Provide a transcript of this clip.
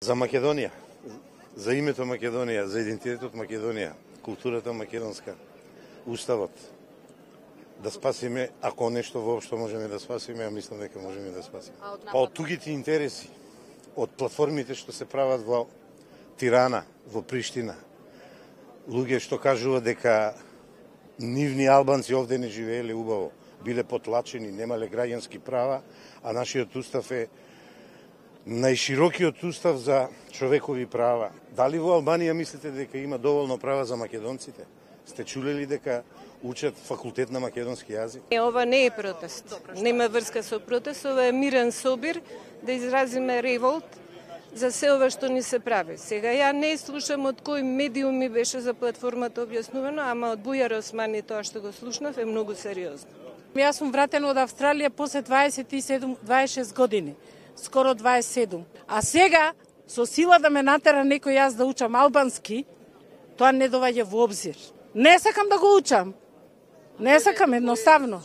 За Македонија, за името Македонија, за идентитетот Македонија, културата македонска, уставот, да спасиме, ако нешто воопшто можеме да спасиме, а мислам дека можеме да спасиме. Па од тугите интереси, од платформите што се прават во Тирана, во Приштина, луѓе што кажуваат дека нивни албанци овде не живееле убаво, биле потлачени, немале граѓански права, а нашиот устав е најширокиот устав за човекови права. Дали во Албанија мислите дека има доволно права за македонците? Сте чулели дека учат факултет на македонски јазик? Ова не е протест. Нема врска со протест, ова е мирен собир да изразиме револт за се ова што ни се прави. Сега ја не слушам од кој медиум ми беше за платформата објаснувано, ама од Бујар Османи тоа што го слушнав е многу сериозно. Јас сум вратена од Австралија после 26 години, скоро 27. А сега, со сила да ме натера некој јас да учам албански, тоа не доваѓа во обзир. Не сакам да го учам. Не сакам, едноставно.